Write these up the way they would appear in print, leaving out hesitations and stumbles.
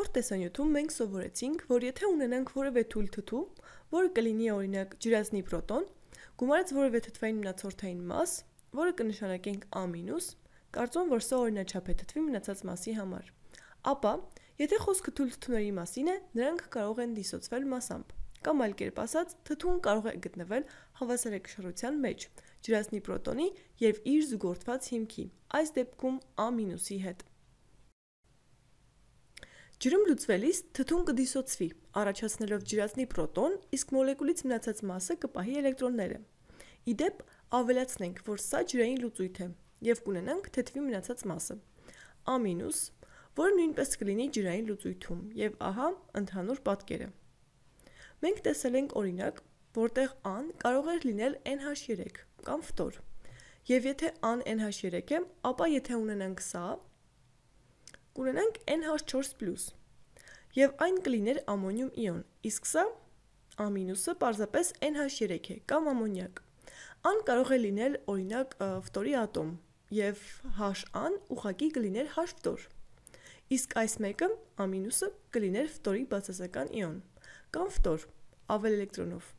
Նախորդ տեսանյութում մենք սովորեցինք, որ եթե ունենանք որևէ թույլ թթու, որը կլինի օրինակ ջրածնի պրոտոն, գումարած որևէ թթվային մնացորդային մաս, որը կնշանակենք A-, կարծում եմ, որ սա օրինաչափ է թթվի մնացած մասի համար, ապա, եթե խոսքը թույլ թթուների մասին է, նրանք կարող են դիսոցվել մասամբ, կամ այլ կերպ ասած, թթուն կարող է գտնվել հավասարակշռության մեջ, ջրածնի պրոտոնի և իր զուգորդված հիմքի, այս դեպքում A-ի հետ։ Ջրում լուծվելիս թթուն կդիսոցվի, առաջացնելով ջրածնի պրոտոն, իսկ մոլեկուլից մնացած մասը կպահի էլեկտրոնները։ Իդեպ, ավելացնենք, որ սա ջրային լուծույթ է, և կունենանք թթվի մնացած մասը, A-, որը նույնպես կլինի ջրային լուծույթում, և ահա ընդհանուր պատկերը։ Մենք տեսել ենք օրինակ, որտեղ A-ն կարող էր լինել NH3 կամ ֆտոր, և եթե A-ն NH3 է, ապա եթե ունենանք սա, կունենանք NH4+, և այն կլիներ ամոնիում իոն, իսկ սա, A- պարզապես NH3 է կամ ամոնիակ։ A-ն կարող է լինել օրինակ ֆտորի ատոմ, և H-ն ուղղակի կլիներ H ֆտոր, իսկ այս մեկը, A- կլիներ ֆտորի բացասական իոն, կամ ֆտոր, ավել էլեկտրոնով։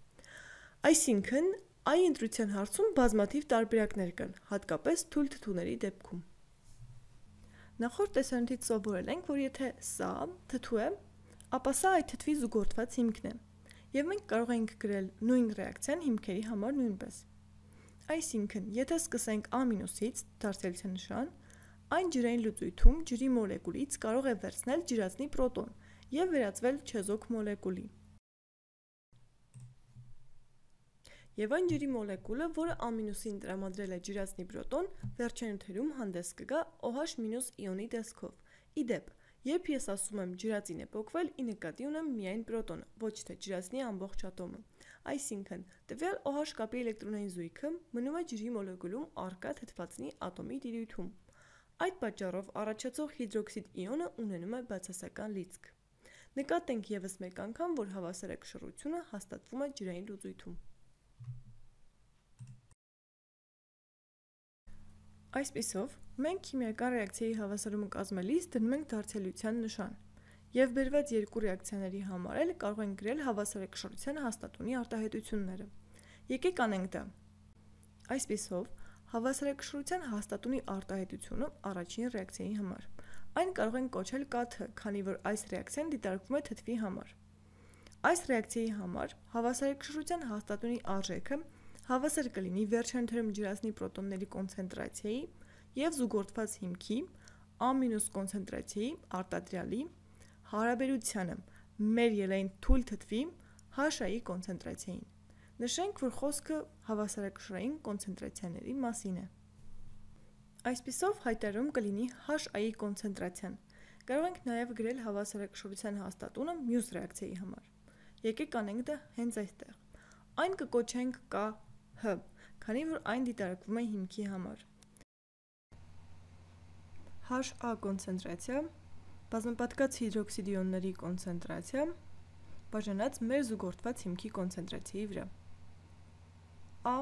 Այսինքն, I ընտրության հարցում բազմաթիվ տարբերակներ կան, հատկապես թույլ թթուների դեպքում։ Նախորդ տեսանյութից սովորել ենք, որ եթե սա թթու է, ապա սա այդ թթվի զուգորդված հիմքն է, և մենք կարող ենք գրել նույն ռեակցիան հիմքերի համար նույնպես։ Այսինքն, եթե սկսենք A-ից դարձելության նշան, այն ջրային լուծույթում ջրի մոլեկուլից կարող է վերցնել ջրածնի պրոտոն և վերածվել չեզոք մոլեկուլի։ Եվ այն ջրի մոլեկուլը, որը A-ին տրամադրել է ջրածնի պրոտոն, վերջանյութերում հանդես կգա OH- իոնի տեսքով։ Իդեպ, երբ ես ասում եմ ջրածին է պոկվել, ի նկատի ունեմ միայն պրոտոնը, ոչ թե ջրածնի ամբողջ ատոմը։ Այսինքն, տվյալ OH կապի էլեկտրոնային զույգը մնում է ջրի մոլեկուլում առկա թթվածնի ատոմի տիրույթում։ Այդ պատճառով առաջացող հիդրոքսիդ իոնը ունենում է բացասական լիցք։ Նկատենք ևս մեկ անգամ, որ հավասարակշռությունը հաստատվում է ջրային լուծույթում։ Այսպիսով, մենք քիմիական ռեակցիայի հավասարումը կազմելիս դնում ենք դարձելիության նշան, և բերված երկու ռեակցիաների համար էլ կարող ենք գրել հավասարակշռության հաստատունի արտահայտությունները։ Եկեք անենք դա։ Այսպիսով, հավասարակշռության հաստատունի արտահայտությունը առաջին ռեակցիայի համար։ Այն կարող ենք կոչել K-th, քանի որ այս ռեակցիան դիտարկվում է թթվի համար։ Այս ռեակցիայի համար հավասարակշռության հաստատունի արժեքը հավասար կլինի վերջանյութերում ջրածնի պրոտոնների կոնցենտրացիայի և զուգորդված հիմքի A- կոնցենտրացիայի արտադրյալի հարաբերությանը մեր ելային թույլ թթվի H-ի կոնցենտրացիային։ Նշենք, որ խոսքը հավասարակշռային կոնցենտրացիաների մասին է։ Այսպիսով հայտարարում կլինի H-ի կոնցենտրացիան։ Կարող ենք նաև գրել հավասարակշռության հաստատունը մյուս ռեակցիայի համար։ Եկեք անենք դա հենց այստեղ։ Այն կկոչենք KH, քանի որ այն դիտարկվում է հիմքի համար։ HA կոնցենտրացիա, բազմապատկած հիդրոքսիդ իոնների կոնցենտրացիա, բաժանած մեր զուգորդված հիմքի կոնցենտրացիայի վրա։ A-։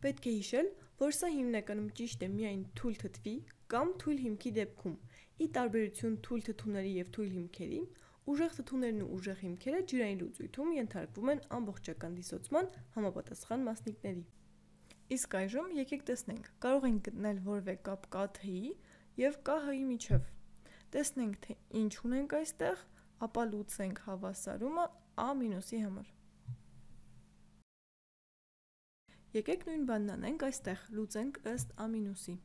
Պետք է հիշել, որ սա հիմնականում ճիշտ է միայն թույլ թթվի կամ թույլ հիմքի դեպքում, ի տարբերություն թույլ թթուների և թույլ հիմքերի, ուժեղ թթուներն ու ուժեղ հիմքերը ջրային լուծույթում ենթարկվում են ամբողջական դիսոցման համապատասխան մասնիկների։ Իսկ այժմ եկեք տեսնենք, կարող ենք գտնել որևէ կապ K-th-ի և KH-ի միջև։ Տեսնենք, թե ինչ ունենք այստեղ, ապա լուծենք հավասարումը A- համար։ Եկեք նույն բանն անենք այստեղ, լուծենք ըստ A-ի։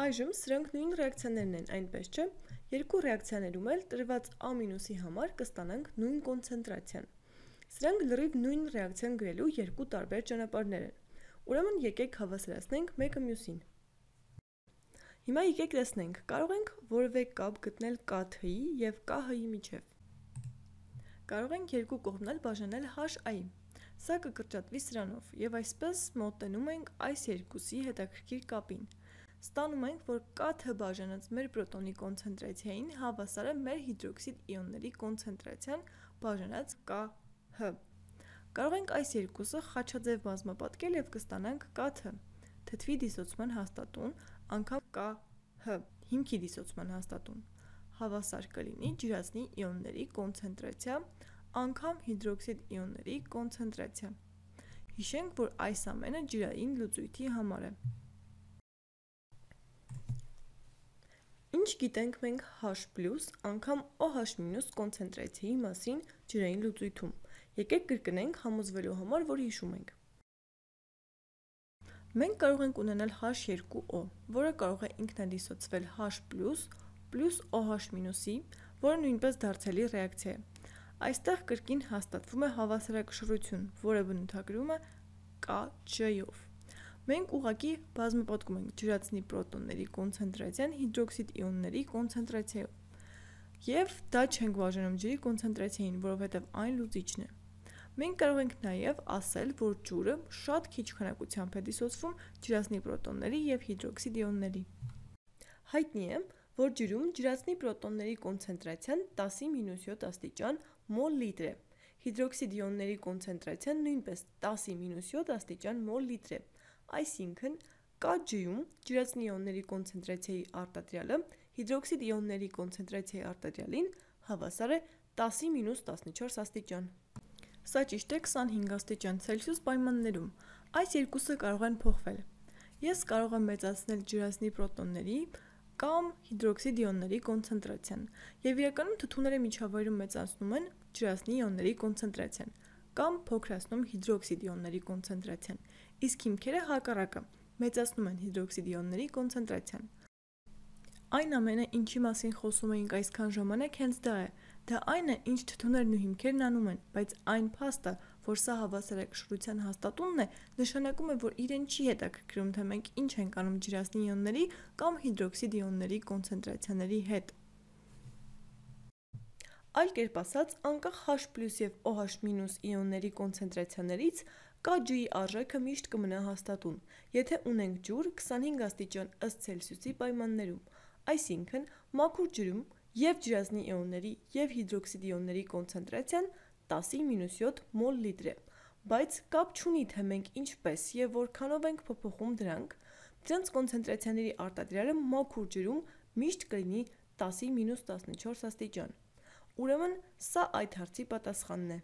Այժմ սրանք նույն ռեակցիաներն են, այնպես չէ, երկու ռեակցիաներում էլ տրված A- համար կստանանք նույն կոնցենտրացիան։ Սրանք լրիվ նույն ռեակցիան գրելու երկու տարբեր ճանապարհներ են։ Ուրեմն եկեք հավասարացնենք մեկը մյուսին։ Հիմա եկեք տեսնենք, կարող ենք որևէ կապ գտնել K-th-ի և KH-ի միջև։ Կարող ենք երկու կողմն էլ բաժանել H-ի։ Սա կկրճատվի սրանով, և այսպես մոտենում ենք այս երկուսի հետաքրքիր կապին։ Ստանում ենք, որ K-ը բաժանած մեր պրոտոնի կոնցենտրացիային հավասար է մեր հիդրոքսիդ իոնների կոնցենտրացիան բաժանած K-ը։ Կարող ենք այս երկուսը խաչաձև բազմապատկել և կստանանք K-ը թթվի դիսոցման հաստատուն անգամ K-ը հիմքի դիսոցման հաստատուն հավասար կլինի ջրածնի իոնների կոնցենտրացիա անգամ հիդրոքսիդ իոնների կոնցենտրացիա։ Հիշենք, որ այս ամենը ջրային լուծույթի համար է։ Ինչ գիտենք մենք H+ անգամ OH- կոնցենտրացիայի մասին ջրային լուծույթում։ Եկեք կրկնենք համոզվելու համար, որ հիշում ենք։ Մենք կարող ենք ունենալ H2O, որը կարող է ինքնադիսոցվել H+ plus OH-ի, որը նույնպես դարձելի ռեակցիա է։ Այստեղ կրկին հաստատվում է հավասարակշռություն, որը բնութագրվում է Kj-ով։ Մենք ուղղակի բազմապատկում ենք ջրածնի պրոտոնների կոնցենտրացիան հիդրոքսիդ իոնների կոնցենտրացիայով։ Եվ դա չենք բաժանում ջրի կոնցենտրացիային, որովհետև այն լուծիչն է։ Մենք կարող ենք նաև ասել, որ ջուրը շատ քիչ քանակությամբ է դիսոցվում ջրածնի պրոտոնների և հիդրոքսիդ իոնների։ Հայտնի է, որ ջրում ջրածնի պրոտոնների կոնցենտրացիան 10-7 աստիճան մոլ/լիտր է։ Հիդրոքսիդ իոնների կոնցենտրացիան նույնպես 10-7 աստիճան մոլ/լիտր է։ Այսինքն, Kj-ում ջրածնի իոնների կոնցենտրացիայի արտադրյալը հիդրոքսիդ իոնների կոնցենտրացիայի արտադրյալին հավասար է 10-14 աստիճան։ Սա ճիշտ է 25 աստիճան Ցելսիուս պայմաններում։ Այս երկուսը կարող են փոխվել։ Ես կարող եմ մեծացնել ջրածնի պրոտոնների կամ հիդրոքսիդ իոնների կոնցենտրացիան, և իրականում թթուները միջավայրում մեծացնում են ջրածնի իոնների կոնցենտրացիան կամ փոքրացնում հիդրոքսիդ իոնների կոնցենտրացիան, իսկ հիմքերը հակառակը մեծացնում են հիդրոքսիդ իոնների կոնցենտրացիան։ Այն ամենը, ինչի մասին խոսում էինք այսքան ժամանակ, հենց դա է։ Դա այն է, ինչ թթուներն ու հիմքերն անում են, բայց այն փաստը, որ սա հավասարակշռության հաստատունն է, նշանակում է, որ իրեն չի հետաքրքրում, թե մենք ինչ ենք անում ջրածնի իոնների կամ հիդրոքսիդ իոնների կոնցենտրացիաների հետ։ Այլ կերպ ասած, անկախ H+ և OH- իոնների կոնցենտրացիաներից Kj-ի արժեքը միշտ կմնա հաստատուն, եթե ունենք ջուր 25 աստիճան ըստ Ցելսիուսի պայմաններում, այսինքն մաքուր ջրում և ջրածնի իոնների և հիդրոքսիդ իոնների կոնցենտրացիան 10-7 մոլ/լիտր է, բայց կապ չունի, թե մենք ինչպես և որքանով ենք փոփոխում դրանց կոնցենտրացիաների արտադրյալը մաքուր ջրում միշտ կլինի 10-14 աստիճան։ Ուրեմն սա այդ հարցի պատասխանն է։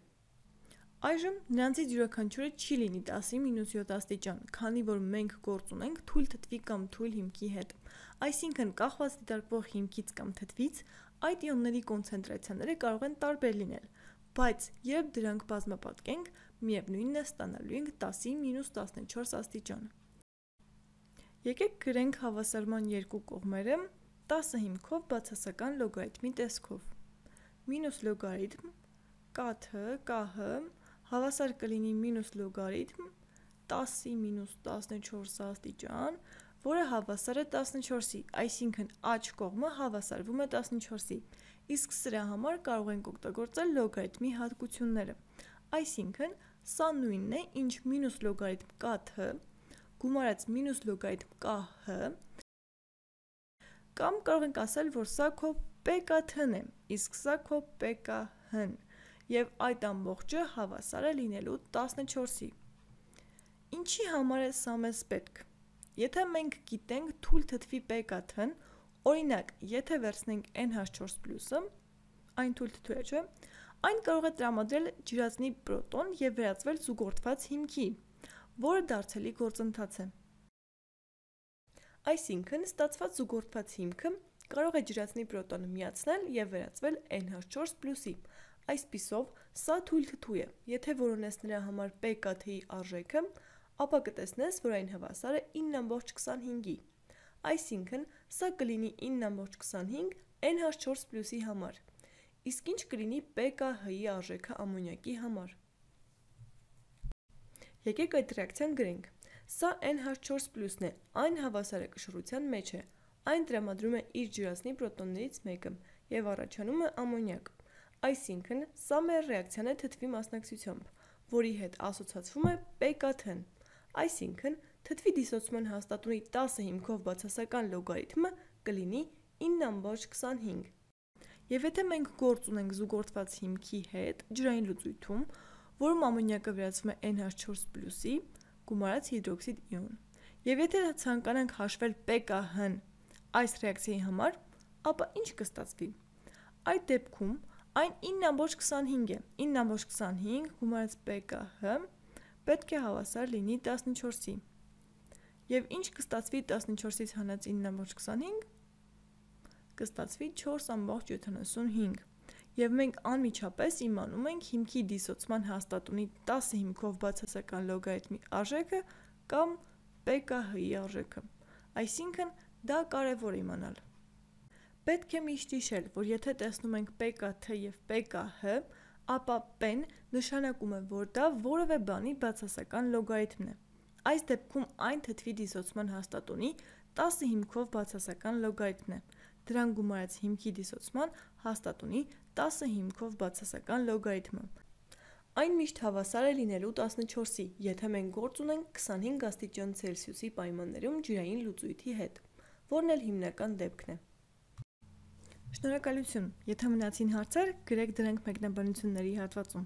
Այժմ նրանցից յուրաքանչյուրը չի լինի 10-7 աստիճան, քանի որ մենք գործ ունենք թույլ թթվի կամ թույլ հիմքի հետ։ Այսինքն, կախված դիտարկվող հիմքից կամ թթվից, այդ իոնների կոնցենտրացիաները կարող են տարբեր լինել, բայց երբ դրանք բազմապատկենք, միևնույնն է ստանալու ենք 10-14 աստիճան։ Եկեք գրենք հավասարման երկու կողմերը 10 հիմքով բացասական լոգարիթմի տեսքով։ Մինուս լոգարիթմ KT հավասար կլինի մինուս լոգարիթմ 10-14 աստիճան, որը հավասար է 14-ի, այսինքն աջ կողմը հավասարվում է 14-ի, իսկ սրա համար կարող ենք օգտագործել լոգարիթմի հատկությունները, այսինքն սա նույնն է, ինչ մինուս լոգարիթմ KT գումարած մինուս լոգարիթմ KH, կամ կարող ենք ասել, որ սա քո PKT-ն է, իսկ սա քո PKH-ն, և այդ ամբողջը հավասար է լինելու 14-ի։ Ինչի համար է սա մեզ պետք։ Եթե մենք գիտենք թույլ թթվի PKT-ն, օրինակ, եթե վերցնենք NH4+-ը, այն թույլ թթու է, չէ՞, այն կարող է տրամադրել ջրածնի պրոտոն և վերածվել զուգորդված հիմքի, որը դարձելի գործընթաց է։ Այսինքն, ստացված զուգորդված հիմքը կարող է ջրածնի պրոտոնը միացնել և վերածվել NH4+-ի։ Այսպիսով, սա թույլ թթու է։ Եթե որոնես նրա համար PKT-ի արժեքը, ապա կտեսնես, որ այն հավասար է 9.25-ի։ Այսինքն, սա կլինի 9.25 NH4+-ի համար։ Իսկ ինչ կլինի PKH-ի արժեքը ամոնիակի համար։ Եկեք այդ ռեակցիան գրենք։ Սա NH4+-ն է, այն հավասարակշռության մեջ է։ Այն տրամադրում է իր ջրածնի պրոտոններից մեկը և առաջանում է ամոնիակ։ Այսինքն, սա մեր ռեակցիան է թթվի մասնակցությամբ, որի հետ ասոցացվում է PKT-ն։ Այսինքն, թթվի դիսոցման հաստատունի 10 հիմքով բացասական լոգարիթմը կլինի 9,25։ Եվ եթե մենք գործ ունենք զուգորդված հիմքի հետ ջրային լուծույթում, որում ամոնիակը վերածվում է NH4+-ի, գումարած հիդրոքսիդ իոն, եւ եթե ցանկանանք հաշվել pKh-ն այս ռեակցիայի համար, ապա ինչ կստացվի։ Այդ դեպքում այն 9,25 է, 9,25 գումարած pKh պետք է հավասար լինի 14-ի։ Եվ ինչ կստացվի 14-ից հանած 9,25, կստացվի 4,75։ Եվ մենք անմիջապես իմանում ենք հիմքի դիսոցման հաստատունի 10 հիմքով բացասական լոգարիթմի արժեքը կամ pKh-ի արժեքը։ Այսինքն դա կարևոր է իմանալ։ Պետք է միշտ հիշել, որ եթե տեսնում ենք pKt եւ pKh, ապա p-ն նշանակում է, որ դա որևէ բանի բացասական լոգարիթմն է։ Այս դեպքում այն թթվի դիսոցման հաստատունի 10 հիմքով բացասական լոգարիթմն է։ Դրան գումարած հիմքի դիսոցման հաստատունի 10 հիմքով բացասական լոգարիթմը։ Այն միշտ հավասար է լինելու 14-ի, եթե մենք գործ ունենք 25 աստիճան Ցելսիուսի պայմաններում ջրային լուծույթի հետ, որն էլ հիմնական դեպքն է։ Շնորհակալություն, եթե մնացին հարցեր, գրեք դրանք մեկնաբանությունների հատվածում։